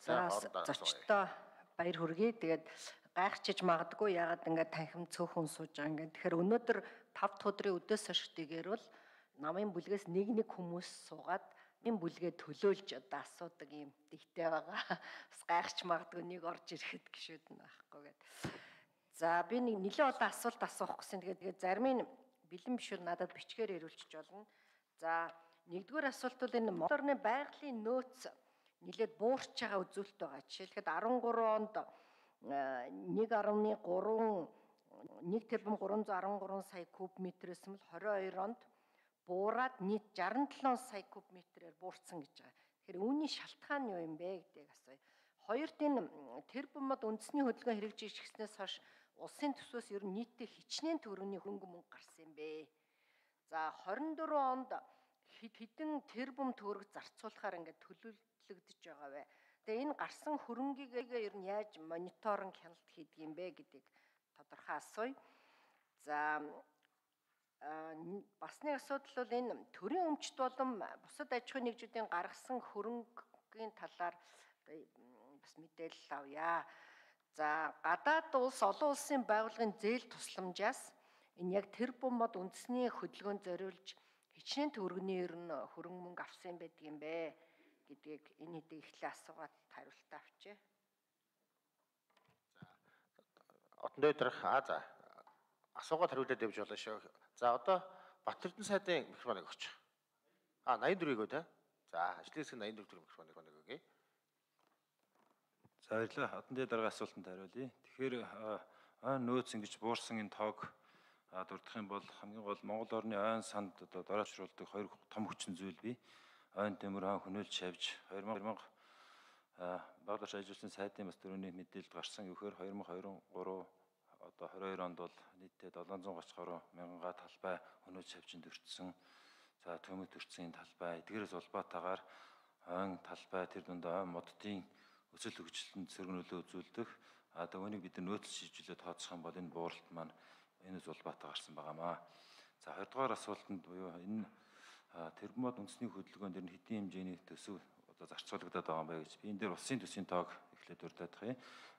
За зочдоо баяр хүргэе. Тэгээд гайхчиж магадгүй ягаад ингээд танхим цөөхөн сууж байгаа ингээд. Тэгэхээр өнөөдөр 5 дахь өдрийн өдөөс хойш дэгээр бол намын бүлгээс нэг хүмүүс суугаад энэ бүлгээ төлөөлж одоо асуудаг юм дэгтэй байгаа. Бас гайхч магадгүй нэг орж ирэхэд гişүүд нь байхгүй гэдэг. За би нэг нэлээд олон асуулт асуух гэсэн. Тэгээд зарим нь бэлэн биш бол надад бичгээр ирүүлчих болно. За нэгдүгээр асуулт бол энэ Монгол орны байгалийн нөөц нэлээд буурч байгаа үзүүлэлт байгаа. Жишээлхэд 13 онд 1 тэрбум 313 сая куб метрээс нь 22 онд буураад нийт 67 сая куб метрээр буурсан гэж байгаа. Тэгэхээр үүний шалтгаан нь юу юм бэ гэдгийг асууя. Хоёрт энэ тэрбумод үндэсний хөдөлгөөн хэрэгжижсэнээс хойш улсын төсвөөс ер нь нийтдээ хичнээн төгрөгийн хөнгө мөнгө гарсан юм бэ. За 24 онд хэдэн тэрбум төгрөг зарцуулахаар ингээд төлөвлөгдөж байгаа вэ? Тэгээ энэ гарсан хөрөнгийг ер нь яаж мониторинг хяналт хийдэг юм бэ гэдгийг тодорхой асууя. За бас нэг асуудал бол энэ төрийн өмчт болон бусад аж ахуйн нэгжүүдийн гаргасан хөрөнгийн талаар бас мэдээлэл авъя. За гадаад улс олон улсын байгууллагын зээл тусламжаас энэ яг тэрбумод үндэсний хөдөлгөөнд зориулж хичнээн төгрөгийн ер нь хөрөнгө мөнгө авсан байдаг юм бэ гэдгийг энэ хэдийг эхлээ асуугаад хариултаа авчээ. За отон дээрх асуугаад хариулаад явж болно шүү. За одоо Батэрдэн сайдын микрофоныг өгч. 84-ийг үү те. За ажлын хэсэг 84 төгрөг микрофоныг өгье. За баярлалаа. Отон дээр дараагийн асуултанд хариулъя. Тэгэхээр нөөц ингэж буурсан энэ тоог дурдах юм бол хамгийн гол Монгол орны ойн санд одоо дороочруулдаг хоёр том хүчин зүйл бий. Ойн төмөр хөнөөлж шавж 2000 багш ажилласан сайдын бас төрөний мэдээлэлд гарсан гэхээр 2023 одоо 22 онд бол нийтдээ 730 гаруй мянга талбай хөнөөлж шавжинд өртсөн. За төмөд өртсөн энэ талбай эдгээрээс улбаатаагаар ойн талбай тэр дунд ойн моддын өсөл хөгжилтөнд сөрөг нөлөө үзүүлдэг. Одоо үүнийг бид нөөц шийдвэрлээд тооцох юм бол энэ бууралт маань энэс улбаатай гарсан байгаамаа. За хоёрдугаар асуултанд буюу энэ тэрбумод үндэсний хөдөлгөөнд дэр хэдийн хэмжээний төсөв одоо зарцуулагдаад байгаа юм бэ гэж би энэ дээр улсын төсвийн тоог эхлээд урьдах юм.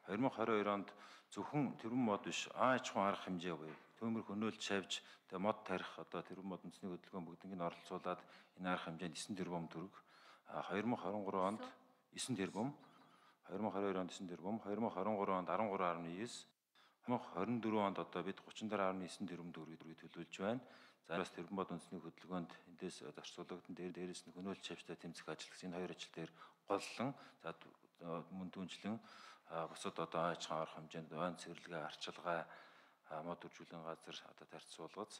2022 онд зөвхөн тэрбумод биш аж ахуйн арга хэмжээ буюу төмөр хөнөөлж шавж тэгээ мод тарих одоо тэрбумод үндэсний хөдөлгөөн бүгднийг оролцуулаад энэ арга хэмжээнд 9 тэрбум төгрөг 2023 онд 9 тэрбум 2022 онд 9 тэрбум 2023 онд 13.9 2024 онд одоо бид 34.9 тэрбум төгрөгийг төлөвлөж байна. За бас тэрбумод үндэсний хөдөлгөөнд эндээс зарцуулагдсан дээрээс нь хөнөөлж шавьтай тэмцэх ажил гэсэн энэ хоёр ажил дээр голлон за мөн түнчлэн бусад одоо аж ахуйн арга хэмжээнд ойн цэвэрлэгээ арчилгаа мод үржүүлэн газар одоо тарьцуулгац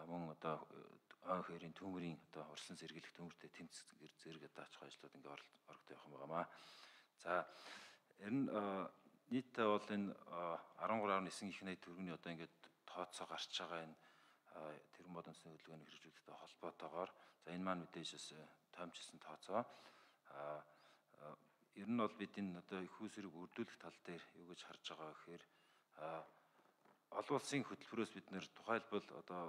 мөн одоо ойн хээрийн төмөрийн одоо урьдчилан сэргийлэх төмөртэй тэмцэх зэрэг одоо аж ахуйн ажлууд ингээ орогдох явах юм байгаамаа. За ер нь нийтдээ бол энэ 13.9 их төгрөгийн одоо ингээд тооцоо гарч байгаа энэ тэрбумод үндэсний хөдөлгөөний хэрэгжүүлэлттэй холбоотойгоор за энэ маань мэдээж бас тоомчилсан тооцоо. Ер нь бол бид энэ одоо их үүсвэрийг үрдүүлэх тал дээр юу гэж харж байгаа гэхээр олон улсын хөтөлбөрөөс бид нэр тухайлбал одоо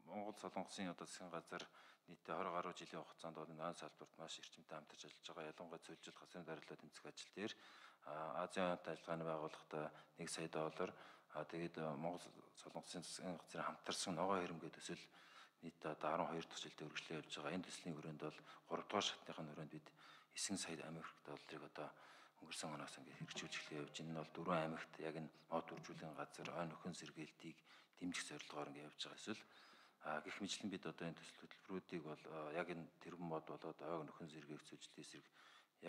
Монгол Солонгосын одоо засгийн газар нийтдээ 20 гаруй жилийн хугацаанд бол энэ салбарт маш эрчимтэй хамтарч ажиллаж байгаа. Ялангуяа зөвлөлт хасрын дарилаа тэмцэх ажил дээр Азийн ажиллагааны байгууллагатай $1 сая тэгээд Монгол Солонгосын засгийн газрын хамтарсан ногоо хэрэмгээ төсөл нийтдээ одоо 12 дахь жилдээ үргэлжлээ явж байгаа. Энэ төслийн хүрээнд бол 3 дугаар шатныхын хүрээнд бид 9 сая Америк долларыг одоо өнгөрсөн оноос ингээд хэрэгжүүлж эхлэе явж. Энэ нь бол 4 аймагт яг энэ мод үржүүлэн газар ойн нөхөн сэргээлтийг дэмжих зорилгоор ингээд явж байгаа эсвэл гэх мэтлэн бид одоо энэ төсөл хөтөлбөрүүдийг бол яг энэ тэрбум мод болоод ойн нөхөн сэргээх зөвлөлтийн эсрэг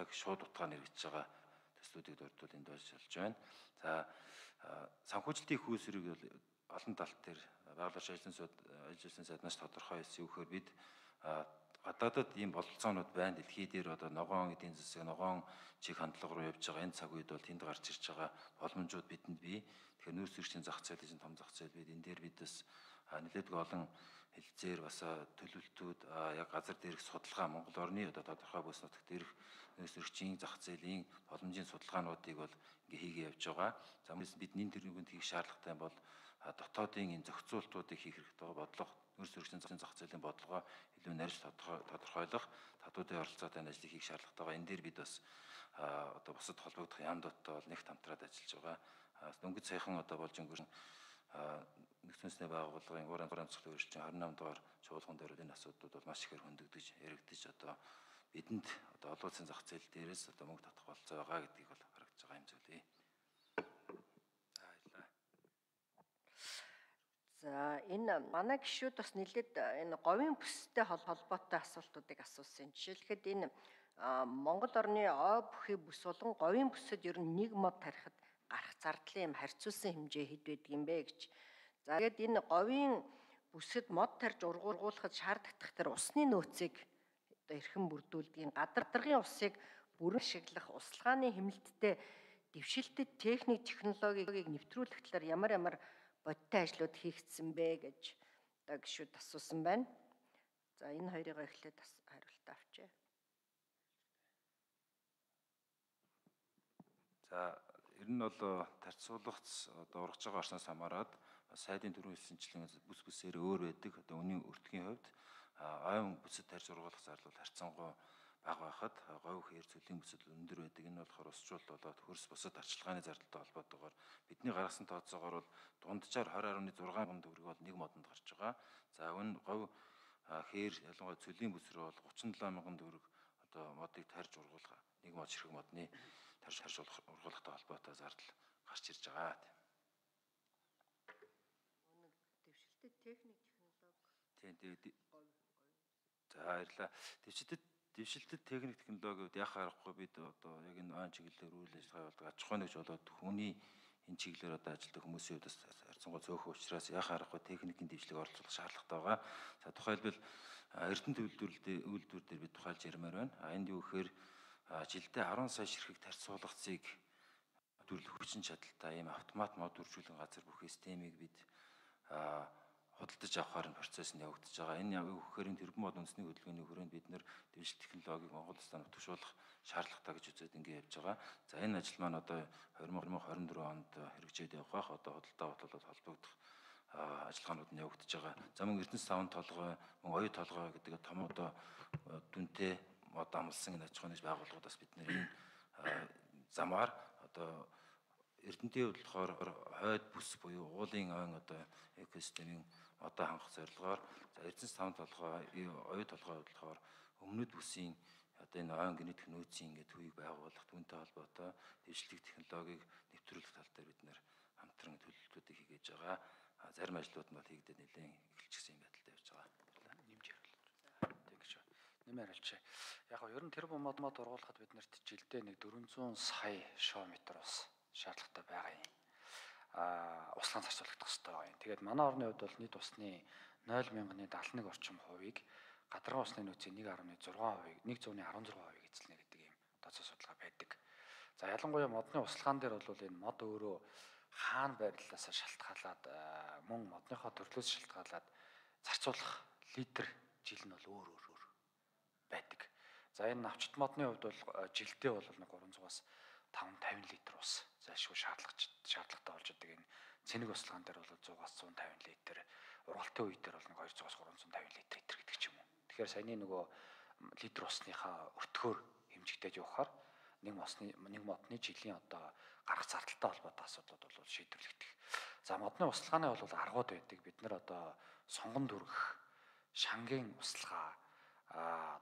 яг шууд утгаар нэрвэж байгаа төслүүдийг дурдвал энд болж байна. За санхүүжилтийн их үүсвэрийг бол олон талт дээр байгууллагын ажилласан сайднаас тодорхой хэлсэн үгээр бид гадаадад ийм бололцоонууд байна. Дэлхий дээр одоо ногоон эдийн засаг, ногоон чиг хандлага руу явж байгаа энэ цаг үед бол тэнд гарч ирж байгаа боломжууд бидэнд бий. Тэгэхээр нөөц зөрчлийн зах зээлийн том зах зээл бид энэ дээр бид бас нэлээдгүй олон хэлцээр бас төлөвлөлтүүд яг газар дээрх судалгаа Монгол орны одоо тодорхой бүс нутагт дээрх нөөц зөрчлийн зах зээлийн боломжийн судалгаануудыг бол ингээ хийгээ явж байгаа. За мөн бид нэн тэргүүнд хийх шаардлагатай бол дотоодын энэ зохицуултуудыг хийх хэрэгтэй байгаа бодлого, нөөц зөрчлийн зах зээлийн бодлогоо илүү нарийнж тодорхойлох, татварын оролцоотой ажлыг хийх шаардлагатай байгаа. Энэ дээр бид бас одоо бусад холбогдох яамдуудтай бол нэгт хамтраад ажиллаж байгаа. Дөнгөж саяхан одоо болж өнгөрсөн нэгдсэн үндэсний байгууллагын уран зохиолын үржилтийн 28 дугаар чуулган дээр энэ асуудлууд бол маш ихээр хөндөгдөж, яригдж одоо бидэнд одоо олон улсын зах зээл дээрээс одоо мөнгө татах болцоо байгаа гэдгийг бол харагдаж байгаа юм зүйлээ. За энэ манай гишүүд бас нэлээд энэ говийн бүстэй холбоотой асуултуудыг асуусан. Жишээлхэд энэ Монгол орны ой бүхий бүс болон говийн бүсэд ер нь нэг мод тарихад гарах зардлын юм харьцуулсан хэмжээ хэд байдаг юм бэ гэж. За тэгээд энэ говийн бүсэд мод тарьж ургуулахад шаардлагатай тэр усны нөөцийг одоо эрхэм бүрдүүлдгийн гадаргын усыг бүрэн ашиглах услгааны хэмнэлттэй дэвшилтэд техник технологиг нэвтрүүлэх талаар ямар бодиттой ажлууд хийгдсэн бэ гэж одоо гишүүд асуусан байна. За энэ хоёрыг эхлээд хариулт авчээ. За ер нь бол тарьцуулгац одоо ургаж байгаа орсноос хамаарат сайдын дөрвөн хэлсэнчлэн бүс бүсээр өөр байдаг. Одоо үнийн өртгийн хувьд ойн бүсэд тарьж ургуулах зардал харьцангуй бага байхад говь хээр цөлийн бүсэд өндөр байдаг. Энэ болохоор усчлал болоод хөрс бусад арчилгааны зардалтай холбоотойгоор бидний гаргасан тооцоогоор бол дунджаар 20.6 мянган төгрөг бол нэг модонд гарч байгаа. За энэ говь хээр ялангуяа цөлийн бүс рүү бол 37 мянган төгрөг одоо модыг тарьж ургуулах нэг мод ширхэг модны тарьж ургуулахтай холбоотой зардал гарч ирж байгаа. Дэвшилтэд техник технологи. Тийм. За баярлалаа. Дэвшилтэд техник технологиуд яхаа аргагүй бид одоо яг энэ ойн чиглэлээр үйл ажиллагаа болдог аж ахуй нэгж болоод хүний энэ чиглэлээр одоо ажилладаг хүмүүсийн хувьд харьцангуй цөөхөн учраас яхаа аргагүй техникийн дэвшлиг оролцох шаардлагатай байгаа. За тухайлбал Эрдэнэт үйлдвэр дээр бид тухайлж ярмаар байна. Энд юу гэхээр жилдээ 10 сая ширхэг тарьцуулгацыг төлөх хүчин чадалтай ийм автомат мод үржүүлэн газар бүхий системийг бид худалдаж авахаар нь процесс нь явагдаж байгаа. Энэ яг үхээр энэ тэрбум мод үндэсний хөдөлгөөний хүрээнд бид нэр дэвшил технологиг Монгол улсад нутагшуулах шаардлагатай гэж үзээд ингэ явж байгаа. За энэ ажил маань одоо 2024 онд хэрэгжээд явах бах. Одоо худалдаа бодлолоод холбогдох ажиллагаанууд нь явагдаж байгаа. За мөн Эрдэнэс савн толгой, мөн оюу толгой гэдэг том одоо дүнтэй мод амлсан энэ аж ахуйн нэгж байгууллагуудаас бид нэр энэ замаар одоо Эрдэнэтийн хувьд болохоор хойд бүс буюу уулын ойн одоо экосистемийн одоо хангах зорилгоор за Эрдэнэс савн толгой, оюу толгой болохоор өмнөд бүсийн одоо энэ ойн генетик нөөцийн ингээд төвийг байгуулах түүнтэй холбоотой дэвшлиг технологиг нэвтрүүлэх тал дээр бид нэр хамтран төлөвлөлтүүдийг хийгээж байгаа. Зарим ажлууд нь бол хийгдээд нэлээд эхэлчихсэн юм байдалтай явж байгаа. Нэмж хариулж. Тэгж нэмэр хариулчих. Яг нь ер нь тэр мод ургуулахад бид нарт жилдээ нэг 400 сая шометр ус шаардлагатай байгаа юм. Услаан зарцуулагдах хэрэгтэй байна. Тэгээд манай орны хувьд бол нийт усны 0.71 орчим хувийг гадаргын усны нөөцийн 1.6%, 116% эзэлнэ гэдэг юм тооцоо судалгаа байдаг. За ялангуяа модны услагаан дээр бол энэ мод өөрөө хаана байрлалаас шалтгаалаад мөн модныхоо төрлөөс шалтгаалаад зарцуулах литр жил нь бол өөр байдаг. За энэ навчт модны хувьд бол жилдээ бол нэг 300-аас 550 литр ус зайлшгүй шаардлагатай болж байгаа. Энэ цэник услагаан дээр бол 100-аас 150 литр, ургалтын үе дээр бол нэг 200-аас 350 литр гэдэг ч юм уу. Тэгэхээр саяны нөгөө литр усныхаа өртгөөр хэмжигдэж явахаар нэг модны жилийн одоо гарах зардалтай холбоотой асуудлууд бол шийдвэрлэгдэх. За модны услагааны бол аргууд байдаг. Бид нар одоо сонгон дүргэх, шангийн услага,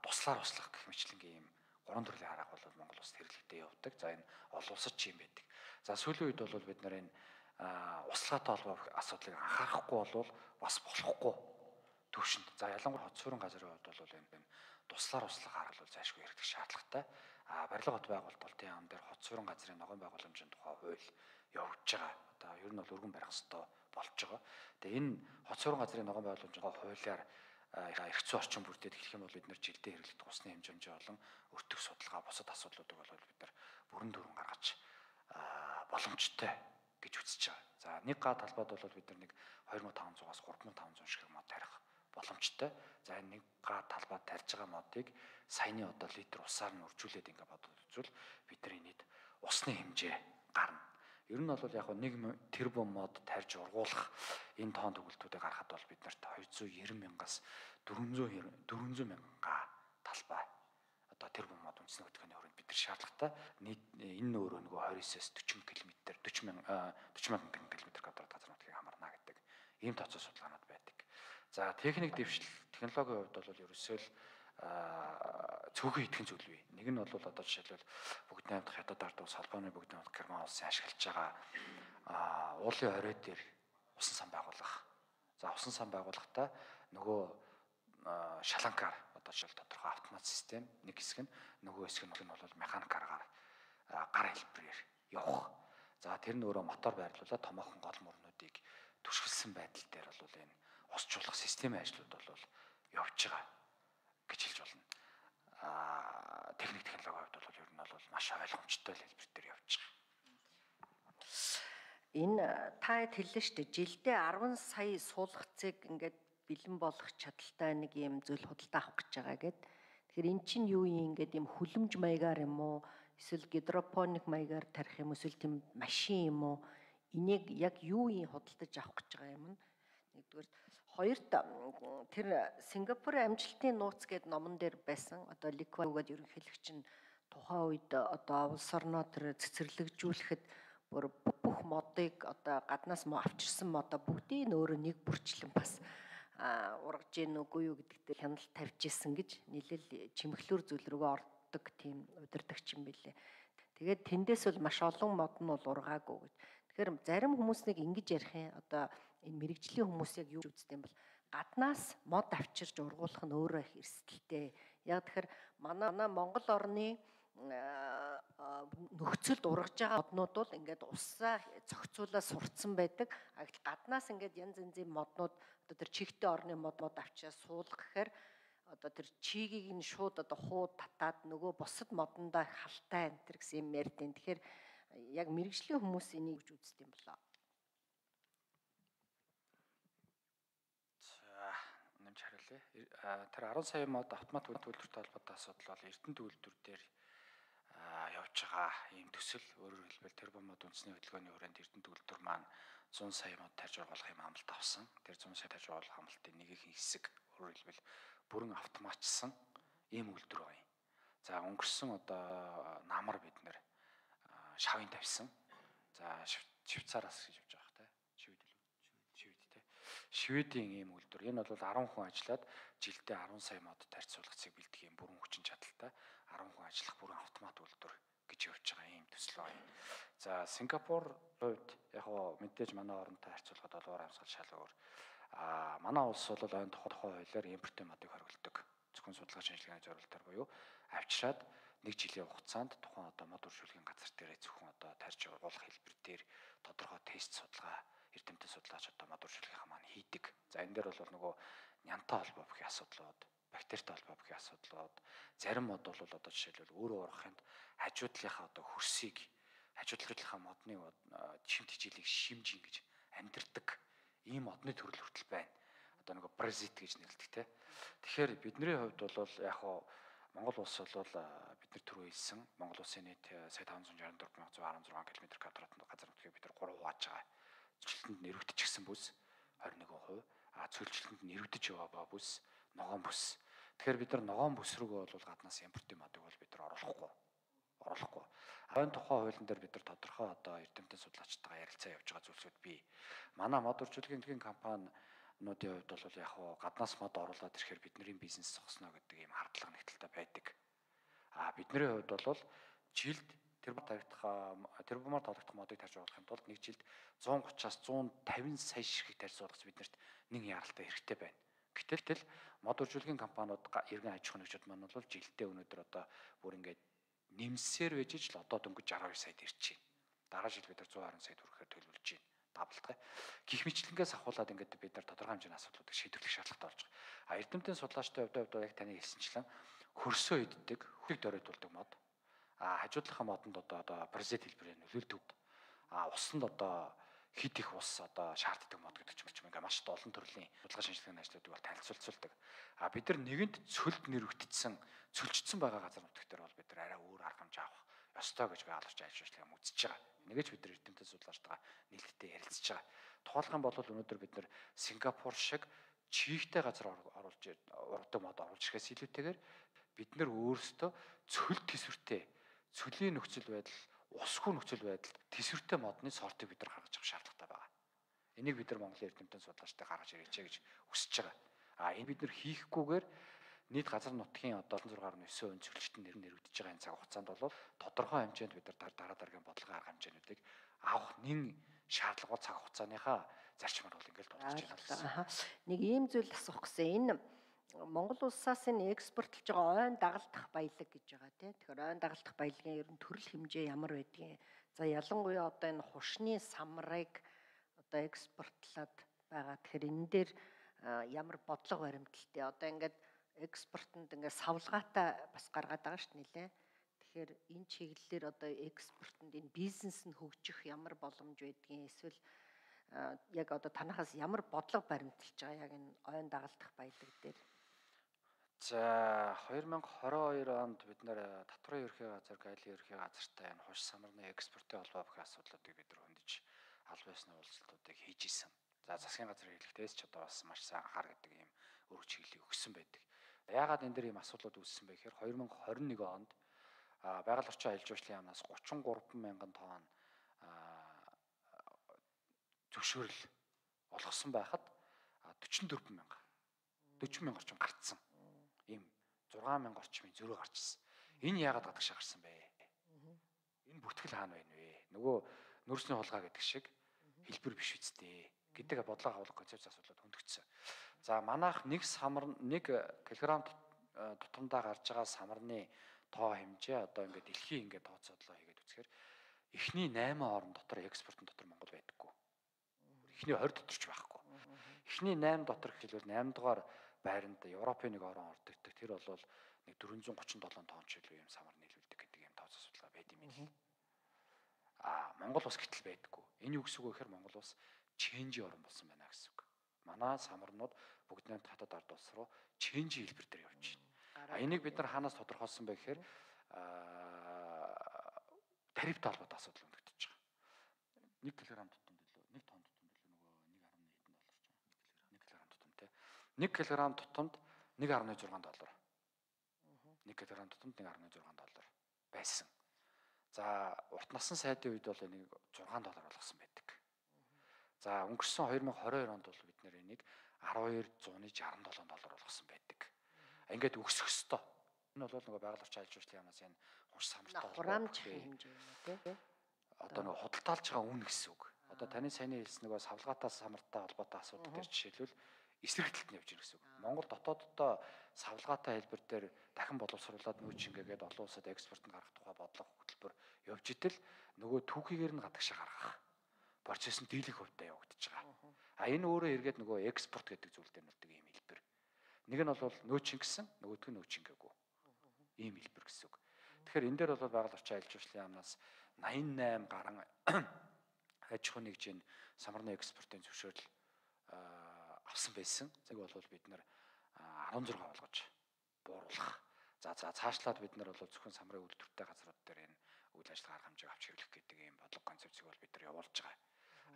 туслаар услах гэх мэтлэнгийн ийм 3 төрлийн арга бол Монгол улсад хэрэглэгдэж явдаг. За энэ олон улсад ч юм байдаг. За сүүлийн үед бол бид нар энэ услагаатай холбоох асуудлыг анхаарахгүй бол бас болохгүй төвшөнд. За ялангуяа хот суурин газрын хувьд бол энэ туслаар услах арга бол зайлшгүй хэрэгдэх шаардлагатай. Барилга хот байгуулалтын яам дээр хот суурин газрын ногоон байгууламжийн тухай хууль явж байгаа. Одоо ер нь бол өргөн барих ёстой болж байгаа. Тэгээ энэ хот суурин газрын ногоон байгууламжийн хуулиар эрх зүйн орчин бүрдээд эхлэх юм бол бид нар жилдээ хэрэглэдэг усны хэмжээ болон өртөх судалгаа бусад асуудлуудыг бол бид нар бүрэн дүрэн гаргаж боломжтой гэж үзэж байгаа. За нэг га талбайд бол бид нар нэг 2500-аас 3500 ширхэг мод тарих боломжтой. За энэ нэг га талбайд тарьж байгаа модыг саяны одоо литр усаар нь үржүүлээд ингээд бодоод үзвэл бидний нийт усны хэмжээ гарна. Ер нь бол яг 1 тэрбум мод тарьж ургуулах энэ тоон төгөлтүүдийг гаргахад бол бид нарт 290 мянгаас 400 мянга талбай одоо тэрбум мод үндэсний хөтөлбөрийн хүрээнд бид нар шаардлагатай нийт энэ өөрөө нөгөө 29-с 40 км 40 мянган км квадрат газар нутгийг хамарна гэдэг ийм тооцоо судалгаанууд байдаг. За техник дэвшил технологийн хувьд бол ерөөсөө л цөөхөн идэхэн зүйл бий. Нэг нь бол одоо жишээлбэл бүгд найрамдах хятад ард улс, Холбооны бүгд найрамдах Герман улсын ашиглаж байгаа уулын орой дээр усан сан байгуулах. За усан сан байгуулахдаа нөгөө шаланкаар одоо жишээл тодорхой автомат систем нэг хэсэг нь нөгөө хэсэг нь бол механик аргаар гар хэлбэрээр явах. За тэр нь өөрөө мотор байрлуулаад томоохон гол мөрнүүдийг түшгэлсэн байдал дээр бол энэ усчлуулах системийн ажлууд бол явж байгаа гэж хэлж болно. Техник технологийн хувьд бол ер нь бол маш ойлгомжтой хэлбэр дээр явж байгаа. Энэ та хэллээ шүү дээ. Жилдээ 10 сая суулгацыг ингээд бэлэн болох чадaltaй нэг юм зүйл худалдаа авах гэж байгаа гэд. Тэгэхээр эн чинь юу юм ингээд юм хүлэмж маягаар юм уу? Эсвэл гидропоник маягаар тарих юм эсвэл тийм машин юм уу? Энийг яг юу юм худалдаж авах гэж байгаа юм нь? Нэгдүгээр хоёрт тэр Сингапурын амжилтын нууц гэдэг номон дээр байсан. Одоо Ликва гэдэг ерөнхийлөгч нь тухайн үед одоо улс орноо тэр цэцэрлэгжүүлэхэд бүр бүх модыг одоо гаднаас авчирсан модоо бүгдийг өөрөө нэг бүрчлэн бас ургаж гин үгүй юу гэдэгтээ хяналт тавьж исэн гэж нийлээл чимэглүүр зүйл рүүгээ ордог тийм удирдагч юм билээ. Тэгээд тэндээс бол маш олон мод нь бол ургаагүй гэж. Тэгэхээр зарим хүмүүс нэг ингэж ярих юм одоо энэ мэрэгжлийн хүмүүс яг юу үздэг юм бол гаднаас мод авчирж ургуулах нь өөрөө их эрсдэлтэй. Яг тэгэхээр манай Монгол орны нөхцөлд ургаж байгаа моднууд бол ингээд усаа зохицуулаад сурцсан байдаг. Гаднаас ингээд янз янзын моднууд одоо тэр чихтэй орны мод авчираа суулгах гэхээр одоо тэр чигийг нь шууд одоо хууд татаад нөгөө бусад модондоо халтай энэ төр гэсэн юм ярьдیں۔ Тэгэхээр яг мэрэгжлийн хүмүүс энийг гэж үздэг юм болоо. За нэмж хариулъя. Тэр 10 сая мод автомат төлөвлөлттэй холбоотой асуудал бол Эрдэнэ төвлөрдөр дээр явж байгаа ийм төсөл өөрөөр хэлбэл тэрбум мод үндэсний хөтөлбөрийн хүрээнд Эрдэнэ төвлөрдөр маань 100 сая мод тарьж ургуулах юм амлалт авсан. Тэр 100 сая тарьж ургуулах амлалтын нэг их хэсэг өөрөөр хэлбэл бүрэн автоматчсан ийм үйлдвэр байна. За өнгөрсөн одоо намар бид нэр шавын тавьсан. За Швейцараас гэж явж байгаа те. Швед те. Шведийн ийм үйлдвэр. Энэ бол 10 хүн ажиллаад жилдээ 10 сая мод тарьж суулгацыг бэлдэх юм бүрэн хүчин чадалтай 10 хүн ажиллах бүрэн автомат үйлдвэр гэж явж байгаа ийм төсөл байна. За Сингапур хувьд яг хоо мэдээж манай оронтой харьцуулахад бол уур амьсгал шал өөр. Манай улс бол ойн тухай хуулиар импортын модыг хориглодог. Зөвхөн судалгаа шинжилгээний зорилтоор буюу авчираад нэг жилийн хугацаанд тухайн одоо мод үржүүлгийн газар дээр зөвхөн одоо тарьж ургуулах хэлбэр дээр тодорхой тест судалгаа эрдэмтэн судлаач одоо мод үржүүлгийнхаа маань хийдэг. За энэ дээр бол нөгөө нянтай холбоо бүхий асуудлууд, бактеритай холбоо бүхий асуудлууд, зарим мод бол одоо жишээлбэл өөрөө ургахынд хажуу талынхаа одоо хөрсийг хажуу талынхаа модны шимт хичээлийг шимж ингэж амьдэрдэг ийм модны төрөл хүртэл байна. Одоо нөгөө паразит гэж нэрлэдэг те. Тэгэхээр бидний хувьд бол яг хоо Монгол улс бол бид нар түрүү хэлсэн Монгол улсын нийт сая 564,116 км² газар нутгийг бид нар 3 хувааж байгаа. Цөлчилтөнд нэрвэгдчихсэн бүс 21%, цөлчилтөнд нэрвэгдэж яваа бүс ногоон бүс. Тэгэхээр бид нар ногоон бүс рүүгээ бол гаднаас импортын модыг бол бид нар оруулахгүй. Хойно тухайн хуулийн дээр бид нар тодорхой одоо эрдэмтэн судлаачтайгаа ярилцаа явж байгаа зүйлсүүд бий. Манай мод үржүүлгийн компаниудын хувьд бол яг хоо гаднаас мод оруулаад ирэхээр бидний бизнес зогсно гэдэг ийм хардлага нэгдэлтэй байдаг. Бидний хувьд бол жилд тэрбумаар тоологдох модыг тарьж ургахын тулд нэг жилд 130-аас 150 сая ширхэг тарьж ургах биднэрт нэг яралтай хэрэгтэй байна. Гэтэл мод үржүүлгийн компаниуд иргэн аж ахуйн нэгжүүд маань бол жилдээ өнөөдөр одоо бүр ингээд нэмсээр байж л одоо дөнгөж 62 саяд ирж байна. Дараа жил бид нар 120 сая төгрөгөөр төлөвлөж байна. Даблтай. Гэх мэтлэнгээс ахуулаад ингээд бид нар тодорхой хэмжээний асуудлуудыг шийдвэрлэх шаардлагатай болж байгаа. Эрдэмтэн судлаачтай хувьд яг таны хэлсэнчлэн хөрсөө иддэг, хөрийг дөрөйтүүлдэг мод. Хажуудлахын модонд одоо паразит хэлбэрээр нөлөөлдөг. Усанд одоо хит их ус одоо шаарддаг мод гэдэг ч юм ингээд маш олон төрлийн судалгаа шинжилгээний ажлуудыг бол танилцуулдаг. Бид нар нэгэнт цөлд нэрвэгдсэн, цөлжсөн байгаа газар нутаг дээр бол бид нар арай өөр арга хэмжээ авах ёстой гэж байгаль орчин ажил ажиллагаа үзэж байгаа. Нэгэж бид нар эрдэмтэн судлаачтайгаа нээлттэй ярилцж байгаа. Тухайлх юм бол өнөөдөр бид нар Сингапур шиг чийгтэй газар оруулж ургадаг мод оруулж ирэхээс илүүтэйгээр бид нар өөрсдөө цөлд тэсвэртэй цөлийн нөхцөл байдал, усгүй нөхцөл байдалд тэсвэртэй модны сортыг бид нар гаргаж авах шаардлагатай байгаа. Энийг бид нар Монголын эрдэмтэн судлаачтай гаргаж ирээч гэж хүсэж байгаа. Энэ бид нар хийхгүйгээр нийт газар нутгийн одоо 6.9% цөлчтөнд нэрвэгдэж байгаа энэ цаг хугацаанд бол тодорхой хэмжээнд бид нар дараа дараагийн бодлогын арга хэмжээнүүдийг авах нэн шаардлага бол цаг хугацааныхаа зарчмаар бол ингээл дурдж байна гэсэн. Нэг ийм зүйл асуух гэсэн. Энэ Монгол улсаас энэ экспортлж байгаа ойн дагалдах баялаг гэж байгаа тийм. Тэгэхээр ойн дагалдах баялагын ер нь төрөл хэмжээ ямар байдгийг. За ялангуяа одоо энэ хушны самрыг одоо экспортлоод байгаа. Тэгэхээр энэ дээр ямар бодлого баримталтай. Одоо ингээд экспортод ингээд савлгаатай бас гаргаад байгаа шүү дээ нэлээ. Тэгэхээр энэ чиглэлээр одоо экспортод энэ бизнес нь хөгжих ямар боломж байдгийг эсвэл яг одоо танахаас ямар бодлого баримталж байгаа яг энэ ойн дагалдах баялаг дээр. За 2022 онд бид нэр татварын ерхий газар, гайлын ерхий газартай энэ хуш самарны экспортын холбоо бүх асуудлуудыг бид нар хөндөж аль биесны уулзалтуудыг хийж исэн. За засгийн газрын хэлэхдээ ч одоо бас маш сайн анхаар гэдэг ийм өргө чиглэлийг өгсөн байдаг. Яагаад энэ дэр ийм асуудлууд үүссэн бэ гэхээр 2021 онд байгаль орчин аялал жуулчлалын яамнаас 33 мянган тонн зөвшөөрөл олгосон байхад 44 мянга 40 мянга орчим гарцсан. Ийм 6 мянга орчмын зөрөө гарчсан. Энэ яагаад гадагшаа гарсан бэ? Энэ бүтгэл хаана байна вэ? Нөгөө нөөцний хулгай гэдэг шиг хэлбэр биш үсттэй гэдэг бодлого хавлах концепц асуудлууд хөндөгдсөн. За манайх нэг самар 1 кг тутамдаа гарч байгаа самарны тоо хэмжээ одоо ингээд дэлхийн ингээд тооцоодлоо хийгээд үзэхээр эхний 8 орн дотор экспортын дотор Монгол байдаггүй. Эхний 20 дотор ч байхгүй. Эхний 8 дотор гэхэлбэл 8 дугаар байранд Европын нэг орон ордог. Тэр бол нэг 437 тонн ч илүү юм самар нийлүүлдэг гэдэг юм тооцоо судалгаа байд юм л. Монгол ус гэтэл байдаггүй. Энэ юу гэсэн үг вэ гэхээр Монгол ус ченжи орн болсон байна гэсэн үг. Манай самарнууд бүгд нэг хатад ард улс руу ченжи хэлбэр дээр явж байна. Энийг бид нар хаанаас тодорхойлсон бэ гэхээр тарифтай холбоотой асуудал өндөгдөж байгаа. 1 кг тутамд илүү 1 тонн тутамд илүү нөгөө 1.1 кг тутамд 1.6 доллар. 1 кг тутамд 1.6 доллар байсан. За урт насны сайдын үед бол энийг 6 доллар болгосон байдаг. За өнгөрсөн 2022 онд бол бид нэр энийг 1267 доллар болгосон байдаг. Ингээд өсөх ёстой. Энэ бол нөгөө байгаль орчин аялал жуулчлалын яамнаас энэ хуш самартай хураамж хэмжээ тийм. Одоо нөгөө худалдаалж байгаа үн гэсэн үг. Одоо таны саяны хэлсэн нөгөө савлгаатай самартай холбоотой асуудал дээр жишээлбэл эсрэг талд нь явж ирэх гэсэн үг. Монгол дотооддоо савлгаатай хэлбэр дээр дахин боловсруулад нөөц шингээгээд олон улсад экспортод гаргах тухай бодлого хөтөлбөр явж идэл нөгөө түүхийгээр нь гадагшаа гаргах процесс нь дийлэх хувьтай явагдаж байгаа. Энэ өөрөө эргээд нөгөө экспорт гэдэг зүйл дээр нөлдөг юм хэлбэр. Нэг нь бол нөөц шингэсэн, нөгөөх нь нөөц шингээгүй. Ийм хэлбэр гэсэн үг. Тэгэхээр энэ дээр бол байгаль орчин аялал жуулчлалын яамнаас 88 гарan аж ахуйн нэгжийн самарны экспортын зөвшөөрөл авсан байсан. Zeg бол бид нар 16 болгож бууруулах. За цаашлаад бид нар бол зөвхөн самрын үйлдвэртэй газрууд дээр энэ үйл ажиллагаа арга хэмжээг авч хэрэглэх гэдэг ийм бодлого концепцийг бол бид нар явуулж байгаа.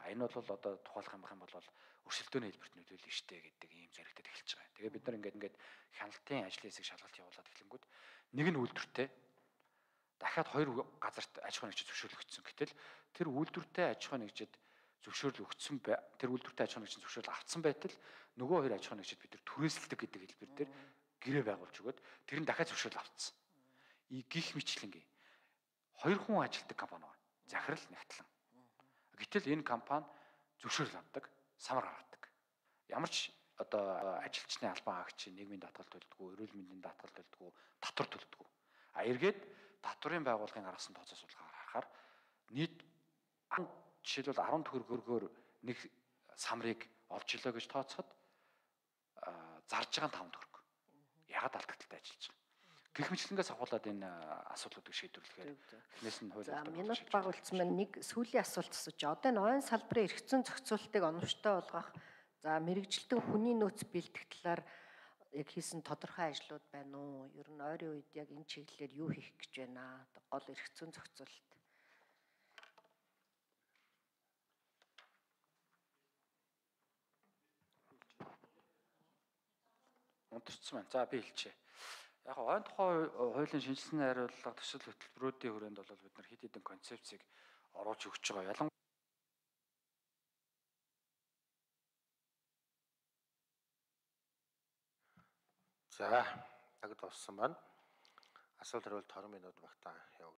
Энэ бол одоо тухайлах юм бол өрсөлдөөний хэлбэрт нөлөөлнө штэ гэдэг ийм зэрэгтэд эхэлж байгаа. Тэгээ бид нар ингээд хяналтын ажлын хэсэг шалгалт явуулаад эхлэнгүүт нэг нь үйлдвэртэй дахиад 2 газарт аж ахуйн нэгжид зөвшөөрөл өгсөн. Гэтэл тэр үйлдвэртэй аж ахуйн нэгжид зөвшөөрөл өгсөн тэр үйлдвэртэй аж ахуйн нэгжид зөвшөөрөл авсан байтал нөгөө 2 аж ахуйн нэгжид бид нар түрээсэлдэг гэдэг хэлбэр дээр гэрээ байгуулж өгöd тэр нь дахиад зөвшөөрөл авцсан. Гих мэтлэнгийн 2 хүн ажилтдаг компани байна. Захирал нэгтлэн. Гэтэл энэ компани зөвшөөрөл авдаг, самар гаргадаг. Ямар ч одоо ажилчны албан хаагч, нийгмийн даатгал төлдөггүй, эрүүл мэндийн даатгал төлдөггүй, татвар төлдөггүй. Эргээд татварын байгууллагын гаргасан тооцоо судалгаагаар харахаар нийт жишээлбэл 10 төгрөгөөр нэг самрыг олж илээ гэж тооцоход зарж байгаа 5 төгрөг. Ягаад алдагдaltaй ажиллаж байгаа. Гэх мэтлэнгээс авахуулаад энэ асуудлуудыг шийдвэрлэхээр эхнээс нь хууль. За минут баг үлдсэн байна. Нэг сүүлийн асуулт асууж. Одоо энэ ойн салбарын эргэцэн зохицуултыг оновчтой болгох, за мэрэгжилтэн хүний нөөц бэлтгэх талаар яг хийсэн тодорхой ажлууд байна уу? Ер нь ойрын үед яг энэ чиглэлээр юу хийх гэж байна? Гол эрх зүйн зохицуулалт. Унтарсан байна. За би хэлчихье. Яг ойн тухай хуулийн шинжилсэн хариуллага төсөл хөтөлбөрүүдийн хүрээнд бол бид нар хэд хэдэн концепцийг оруулж өгч байгаа. За, тагд болсон байна. Асуулт хариулт 20 минут багтаа явагдана.